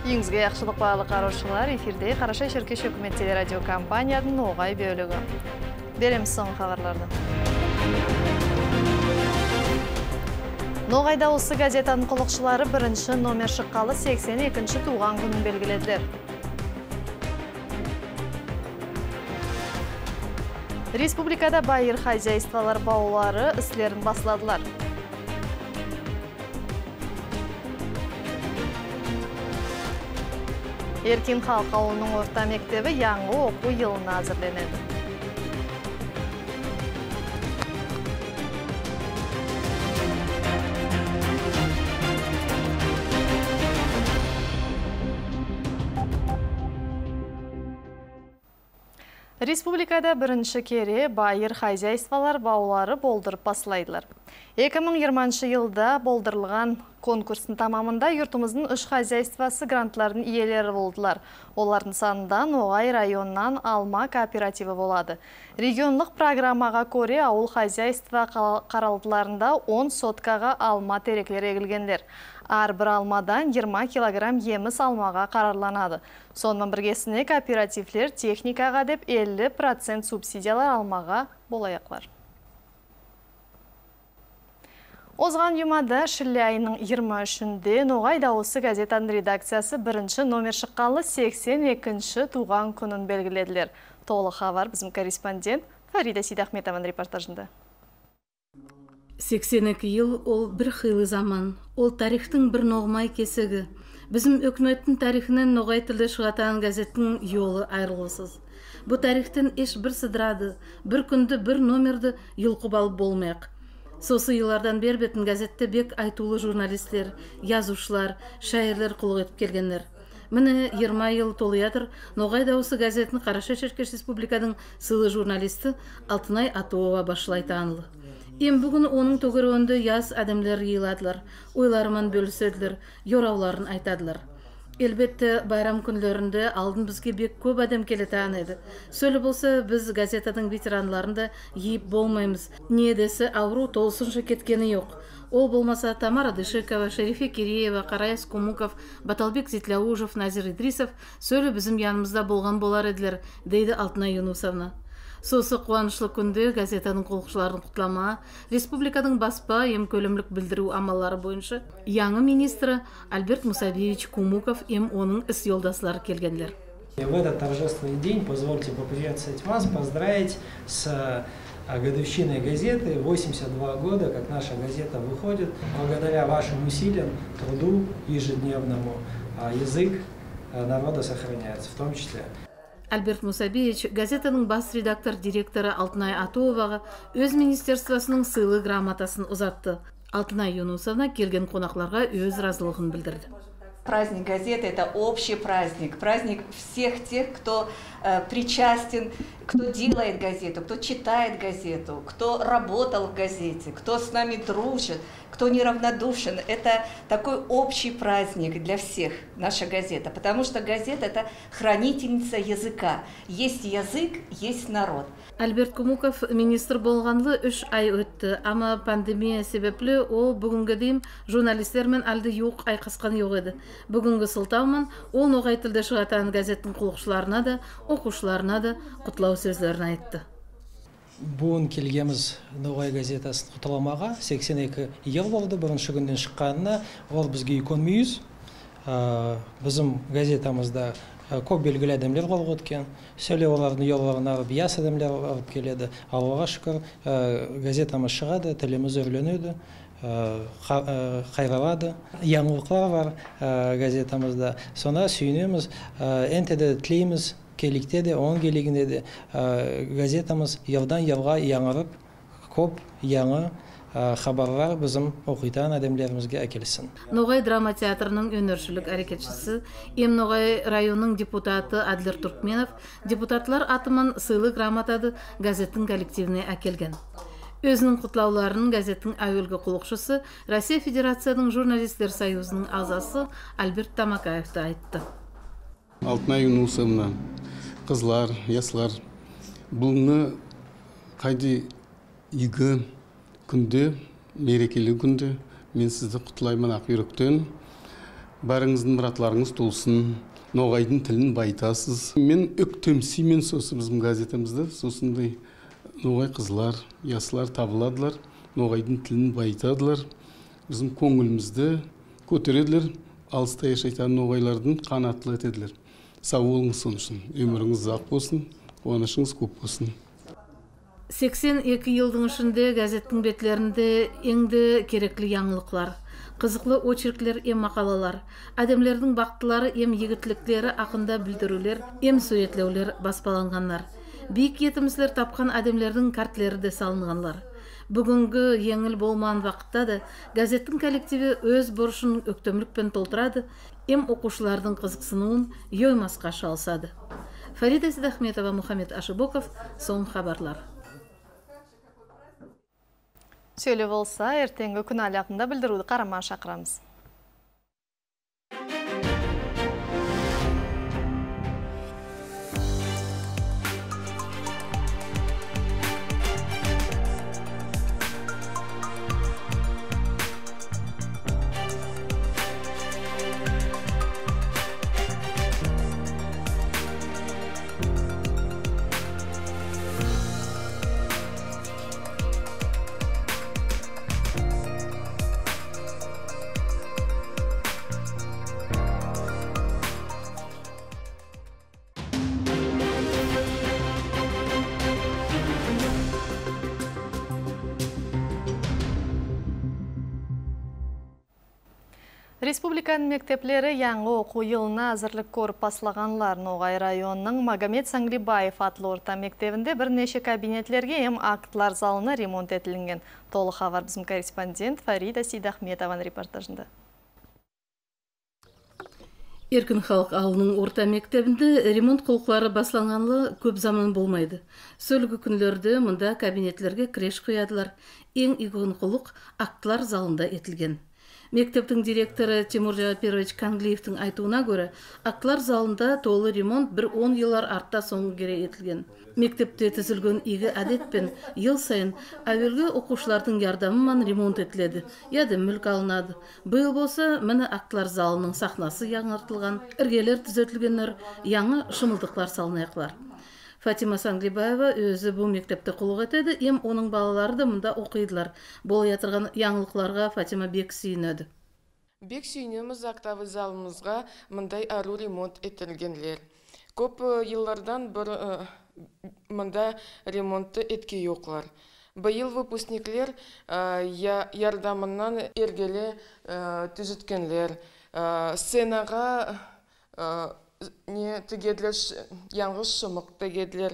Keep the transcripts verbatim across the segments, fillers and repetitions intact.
Үйіңізге яқшылық бағалы қараушылар, эфирде Қараша Шеркеш өкімет телерадио компанияның оғай бөлігі. Береміз соң хабарларды. Ноғайда осы газетаның құлықшылары бірінші номер шыққалы сексен екінші туған күнін белгіледілер. Республикада байыр хозяйстволар баулары іслерін басладылар. Еркин Халқы ауылының орта мектебі яңғы оқу жылына әзірленеді. Республикада бірінші кере байыр хозяйстволар баулары болдырып басылайдылар. эки миң жыйырманчы жылда болдырылған конкурстың тамамында юртымыздың үш хозяйствосы грантлардың иелері болдылар. Олардың санынан Ноғай районынан алма кооперативі болады. Регионлық программаға көре ауыл хозяйство қаралдыларында он соткаға алма тереклері егілгендер. Ар бір алмадан жиырма килограмм еміс алмаға қарарланады. Сонымен біргесіне кооперативлер техникаға деп элүү процент субсидиялар алмаға болаяқлар. Озған юмада шілі айының жиырма үшінде Ноғай дауысы газетаның редакциясы бірінші номер шыққалы сексен екінші туған күнін белгіледілер. Толық хабар біздің корреспондент Фарида Сейдахметованың репортажында. сексен екі ел ол бір қилы заман, ол тарихтың бір ноғмай кесігі. Bizim өкметтің тарихынан Ноғай тілді шығатан газеттің yolu айрылғысыз. Бұл тарихтен еш бір сыдырады, бір күнді бір номерді йылқып алып болмақ. Сосы yıllardan бер бетін газетті бек айтулы журналистлер, язушылар, шайырлар құлық етіп келгендер. Міне жиырма ел толыятыр Ноғай дауысы газетінің Қараша Шеркеш Республикадың сылы журналисті Алтынай Атуова башылай танылы. Ем бүгін оның төгірі яз әдемлер йыладылар, ойларымен бөліседілер, йорауларын айтадылар. Elbette bayram күнлерінде алдын бізге бек көп адам келетан еді. Сөлі болса, біз газетаның ветеранларында ейіп болмаймыз. Не десе ауру толсыншы кеткені жоқ. Ол болмаса Тамара Дышекова, Шерифе Киреева, Қарайс Кумуков, Баталбек Зитляужев, Назир Идрисов сөлі біздің янымызда болған болар еділер, дейді Алтынай Юнусовна. Сосы қуанышлы күнде газетаның қолықшыларын құтлама, республиканың баспа ем көлемлік білдіру амалары бойынша яңы министрі Альберт Мусабевич Кумуков ем оның іс yoldaslары келгендер. В этот торжественный день позвольте поприветствовать вас, поздравить с годовщиной газеты. восемьдесят два года, как наша газета выходит. Благодаря вашим усилиям, труду ежедневному, язык народа сохраняется, в том числе. Альберт Мусабевич газетаның бас редактор директоры Алтынай Атуоваға өз министерствосының сыйлы грамотасын ұзатты. Алтынай Юнусовна келген қонақларға өз разылығын білдірді. Праздник газеты – это общий праздник, праздник всех тех, кто э, причастен, кто делает газету, кто читает газету, кто работал в газете, кто с нами дружит, кто неравнодушен. Это такой общий праздник для всех, наша газета, потому что газета – это хранительница языка. Есть язык, есть народ. Альберт Кумуков министр болғанлы үш ай өтті, ама пандемия себеплі ол бүгінгі дейм журналистермен алды юқ айқасқан жоқ еді. Бүгінгі сылтаумен ол Ноғай тілді шығатан газеттің құлықшыларына да, оқушыларына да құтлау сөздерін айтты. Бүгін келгеміз Ноғай газетасын құтыламаға сексен екі ел болды, бірінші күнден шыққанына ол бізге үлкен мүйіз. Біздің газетамызда көп белгілі адамлер болып өткен, сөйле олардың yollarını алып, яс адамлер алып келеді. Аллаға шүкір, газетамыз шығады, тіліміз өрленеді, қайралады. Яңылықлар бар газетамызда. Соны сүйінеміз, әнтеді тілейміз, келікте де, оң келігінде де газетамыз елдан елға яңырып, көп яңы хабарлар bizim оқитан адамларымызға әкелсін. Ноғай драма театрының өнершілік әрекетшісі, Ем Ноғай районының депутаты Адлер Туркменов депутатлар атымын сыйлы грамотады газеттің коллективіне әкелген. Өзінің құтлауларын газеттің әуелгі құлықшысы Россия Федерацияның журналистер союзының азасы Альберт Тамакаевты айтты. Алтынай Юнусовна, қызлар, яслар, бұлны қайды игі күнде, мерекелі күнде мен сізді құтлаймын ақ үйректен. Барыңыздың мұратларыңыз толсын, ноғайдың тілін байтасыз. Мен өктемсеймен сосы біздің газетімізді, сосындай ноғай қызлар, ясылар табыладылар, ноғайдың тілін байтадылар. Біздің көңілімізді көтереділер, алыста яшайтан ноғайлардың қанаттылы етеділер. Сау болыңыз соның үшін, өміріңіз ұзақ болсын, қуанышыңыз көп болсын. сексен эки жылдың ішінде газеттің бетлерінде еңді керекли яңылықлар, қызықлы очерклер ем мақалалар, әдемлердің бақтылары ем егітліктері ақында білдірулер, ем суетлеулер баспаланғанлар. Бейік етімізлер тапқан әдемлердің картлері де салынғанлар. Бүгінгі еңіл болмаған вақытта да газеттің коллективі өз борышын өктемлікпен толтырады, ем оқушылардың қызықсынуын йоймасқа шалсады. Фарида Сидахметова, Мухаммед Ашыбоков, соң хабарлар. Сөйле болса, ертеңгі күн алақында білдіруді қарама шақырамыз. Республиканың мектеплері яңғы оқу жылына әзірлік көріп басылағанлар. Ноғай районының Магомед Саңлибаев атлы орта мектебінде бірнеше кабинетлерге ем актлар залына ремонт етілінген. Толық хабар біздің корреспондент Фарида Сидахметованың репортажында. Еркін халық ауылының орта мектебінде ремонт құлықлары басланғанлы көп заман болмайды. Сөлгі күнлерді мұнда кабинетлерге креш құядылар. Ең игін құлық актлар залында етілген. Мектептің директоры Тимур Жапирович Канглиевтің айтуына көрі, актлар залында толы ремонт бір он елар артта соңғы кере етілген. Мектепте түзілген игі әдетпен ел сайын әуелгі оқушылардың ярдамымен ремонт етіледі, яды мүлк алынады. Бұл болса, міні актлар залының сахнасы яңартылған, іргелер түзетілгенлер, яңы шымылдықлар салынайықлар. Фатима Саңлибаева өзі бұл мектепті құлық етеді, ем оның балалары да мұнда оқидылар. Бол ятырған яңылықларға Фатима бек сүйінеді. Бек сүйінеміз актавы залымызға мұндай ару ремонт етілгенлер. Көп еллардан бір мұнда ремонтты етке yoqlar. Байыл выпускниклер ярдамынан ергелі түзіткенлер. Сценаға не тігеділер, яңғыз шымық тігеділер,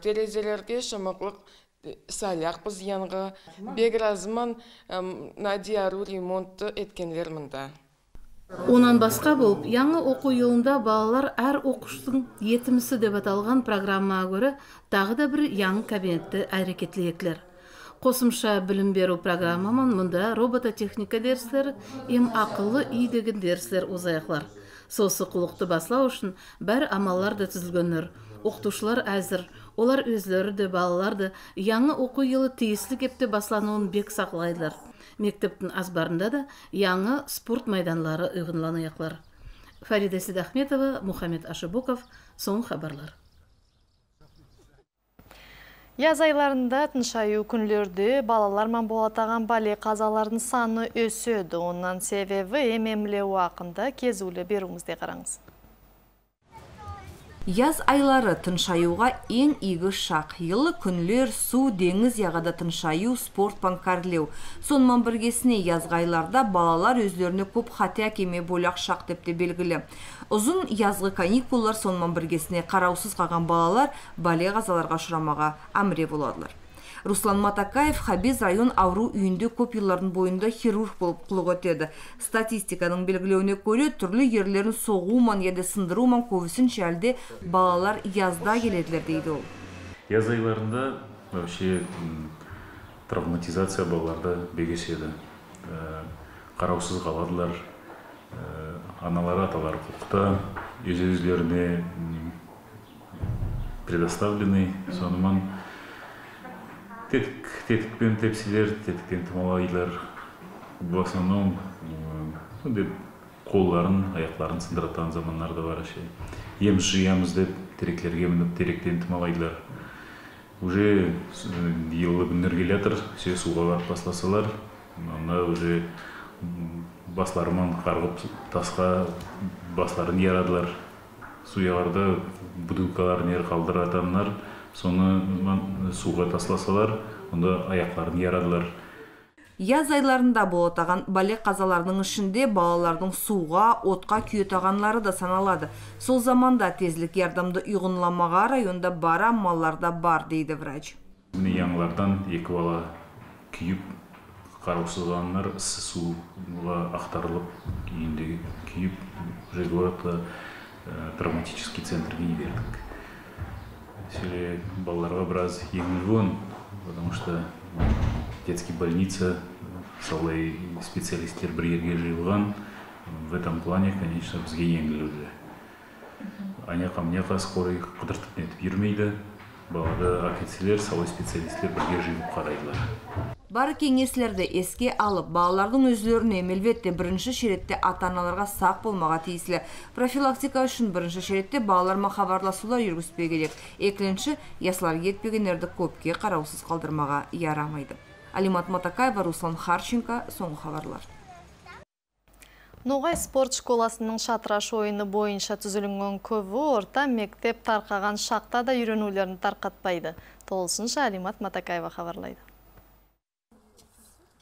терезелерге шымықлық саляқ біз яңғы. Бек разыман надиару ремонтты еткенлер мұнда. Онан басқа болып, яңы оқу елында балалар әр оқуштың етімісі деп аталған программаға көрі тағы да бір яңы кабинетті әрекетлеклер. Қосымша білім беру программамын мұнда робототехника дерслері, ем ақылы үй деген дерслер ұзаяқлар. Сосы құлықты баслау үшін бәр амалар да түзілгенлер. Оқытушылар әзір, олар өзлері де балаларды яңы оқу елі тиісілі кепте баслануын бек сақлайлар. Мектептің азбарында да яңы спорт майданлары ұйғынланаяқлар. Фарида Сидахметова, Мухаммед Ашыбоков, соң хабарлар. Яз айларында тыншаю күнлерді балалармен болатаған бале қазалардың саны өседі. Онан себебі емемлеу ақында кезулі беруіңізде қараңыз. Яз айлары тыншаюға ең игі шақ. Йылы күнлер, су, деңіз яғада тыншаю, спорт банкарлеу. Сонымен біргесіне язғы айларда балалар өздеріне көп хатя кеме боляқ шақ депте белгілі. Ұзын язғы каникуллар сонымен біргесіне қараусыз қалған балалар бале қазаларға ұшырамаға әміре боладылар. Руслан Матакаев Хабез район ауру үйінде көп yılların бойында хирург болып құлық өтеді. Статистиканың белгілеуіне көре түрлі ерлерін соғуыман еді сындыруыман көбісін шәлде балалар язда келеділер дейді ол. Яз айларында вообще травматизация балаларда бегеседі. Қараусыз қаладылар, аналары аталары құқықта, өз-өзлеріне предоставлены, сонымен тетікпен тепсілер, тетікпен тымалайлар, в основном қолларын, аяқтарын сындыратын замандар да бар. Еміз жиямыз деп теректерге мініп теректен тымалайлар. Уже елі күндер келе жатыр, все суға барып басласалар, онда уже басларымен қарғып тасқа басларын ярадылар. Суяларда бутылкаларын ер қалдыратанlar, соны суға тасласалар, онда аяқтарын ярадылар. Яз айларында болотаған балек қазаларының ішінде балалардың суға, отқа күйетағанлары да саналады. Сол заманда тезлік ярдамды ұйғынламаға районда бара малларда бар, дейді врач. Яңлардан екі бала күйіп, қараусызғанлар суға ақтарылып, кейінде күйіп, жегуатта травматический центрге бердік. Сәле балаларға біраз еңілген, потому что детский больница, солай специалисттер бір ерге жиылған. В этом плане, конечно, бізге еңгіл уже. Anya-қамняқа скорый қыдыртып нетіп жүрмейді. Балада акетселер, солай специалисттер бірге жиылып қарайлар. Бары кеңеслерді еске алып, балалардың өзлеріне мелбетте бірінші шеретте ата-аналарға сақ болмаға тиіслі. Профилактика үшін бірінші шеретте балаларма хабарласулар жүргізбе керек. Екінші, яслар етпегенерді көпке қараусыз қалдырмаға ярамайды. Алимат Матакаева, Руслан Харченко, соңғы хабарлар. Ноғай спорт школасының шатраш ойыны бойынша түзілінген көбі орта мектеп тарқаған шақта да үйренулерін тарқатпайды. Толысынша Алимат Матакаева хабарлайды.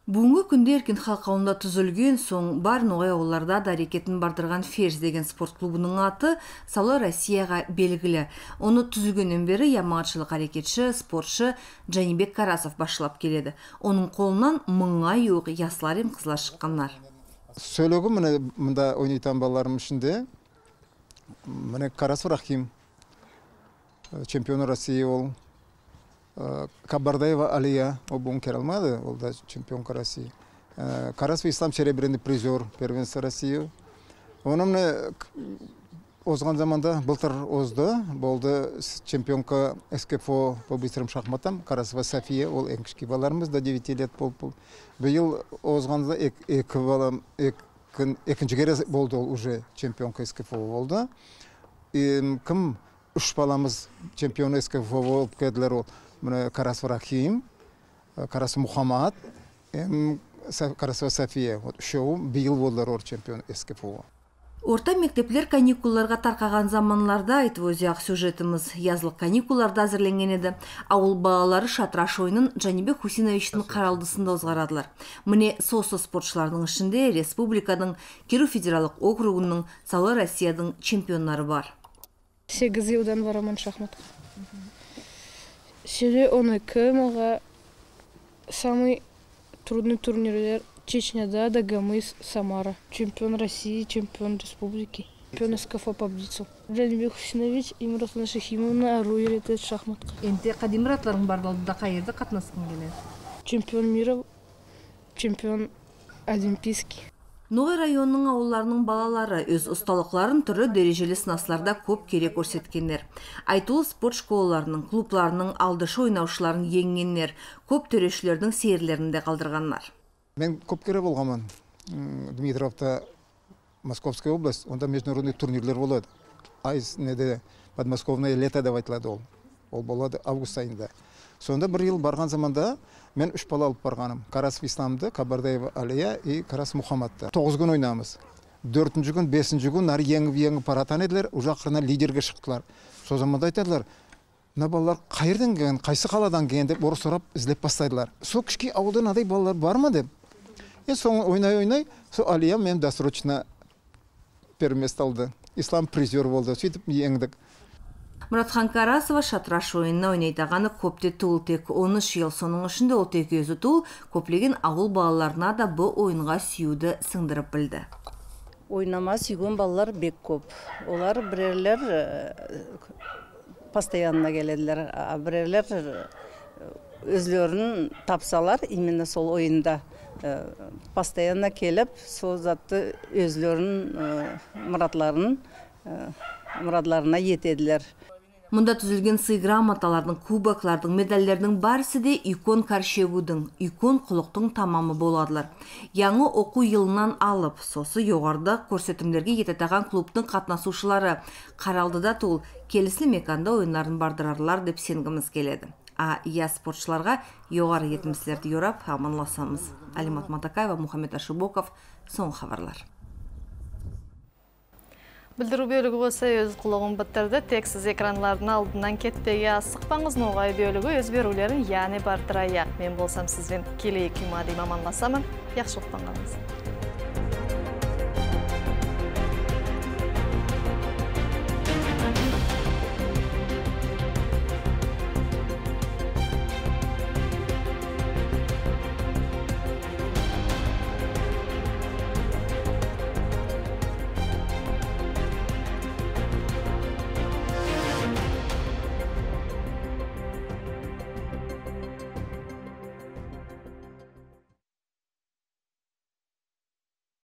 Бүгінгі күнде Еркін халқауында түзілген соң бар Ноғай ауылларда да әрекетін бардырған Ферз деген спорт клубының аты Саулы Россияға белгілі. Оны түзілгеннен бері ямағатшылық әрекетші, спортшы Жанибек Карасов башылап келеді. Оның қолынан мыңға жуық яслар ем қызлар шыққанlar. Сөйлегі міне мұнда ойнайтын балаларым ішінде міне Карасов Рахим, чемпион России ол. Кабардаева Алия, ол бүгін кер алмады, ол да чемпионка России. Карасов Ислам серебряный призер первенства России. Оны міне озған заманда былтыр озды, болды чемпионка СКФО по быстрым шахматам, Карасова София, ол ең кішкі баларымыз да девять лет болды. Биыл озғанда екі балам, екінші кере болды ол уже чемпионка СКФО болды. Кім үш баламыз чемпион СКФО болып кәділер ол. Карасов Рахим, Карасов Мухаммад, Карасова София. Үшеуі биыл болдылар ор чемпион СКФО. Орта мектеплер каникулларға тарқаған заманларда айтып өзі-ақ сюжетіміз язлық каникулларда әзірленген еді. Ауыл балалары шатраш ойынын Жанибек Хусиновичтің қаралдысында озғарадылар. Міне сосы спортшылардың ішінде республиканың Киру федералық округының Саулы Россияның чемпионлары бар. сегіз жылдан барамын шахматқа. Сюде он екі маға самый трудный турнирлер Чечняда, Дагомыс, Самара. Чемпион России, чемпион республики. Чемпион СКФО победил. Жанибек Хусинович и Мирослава Шахимовна үйретеді шахматқа. Енді қадимратларың бар болды да қайырды қатынасқың келеді? Чемпион мира, чемпион олимпийский. Ноғай районының ауылларының балалары өз ұсталықларын түрі дәрежелі сынасларда көп керек көрсеткендер. Айтулы спорт школаларының, клубларының алдышы ойнаушыларын еңгеннер, көп төрешілердің сейірлерінде қалдырғанлар. Мен көп кере болғамын. Дмитровта, Московская область, онда международный турнирлер болады. Айыз неде подмосковное лето деп айтылады ол. Ол болады август айында. Сонда бір ел барған заманда мен үш бала алып барғаным. Карасов Исламды, Кабардаева Алия и Карасов Мухаммадты. Тоғыз күн ойнамыз. Дөртінші күн, бесінші күн нары еңіп-еңіп паратан еділер, уже ақырына лидерге шықтылар. Со заманда айтадылар, мына балалар қайырдан келген, қайсы қаладан келген деп орыс сұрап іздеп бастайдылар. Со кішке ауылдан адай балалар бар ма деп. Е соң ойнай-ойнай, со Алия мен досрочно первенство алды. Ислам призер болды, сөйтіп еңдік. Мұратхан Карасова шатраш ойынына ойнайтағаны көпте тұл тек он үш ел, соның ішінде ол тек өзі тұл, көплеген ауыл балаларына да бұл ойынға сүйуді сыңдырып білді. Ойнама сүйген балалар бек көп. Олар бірерлер постоянно келеділер, бірерлер өзлерін тапсалар, именно сол ойында постоянно келіп, сол затты өзлерін мұратларын мұратларына етеділер. Мұнда түзілген сый грамоталардың, кубоклардың, медальдердің барысы де икон Каршегудың, икон құлықтың тамамы боладылар. Яңы оқу йылынан алып, сосы жоғарда көрсетімдерге ететаған клубтың қатнасушылары қаралдыда тол келісілі меканда ойынларын бардырарлар деп сенгіміз келеді. А я спортшыларға жоғары етімсілерді yorап, аманласамыз. Алимат Матакаева, Мухаммед Ашибоков, соң хабарлар. Білдіру бөлігі болса өз құлығын біттірді, тексіз экранлардың алдынан кетпеге асықпаңыз, ноғай бөлігі өз берулерін яны бардырайық. Мен болсам сізбен келейік күмадым аманласамын, яқшылықтан қалыңыз.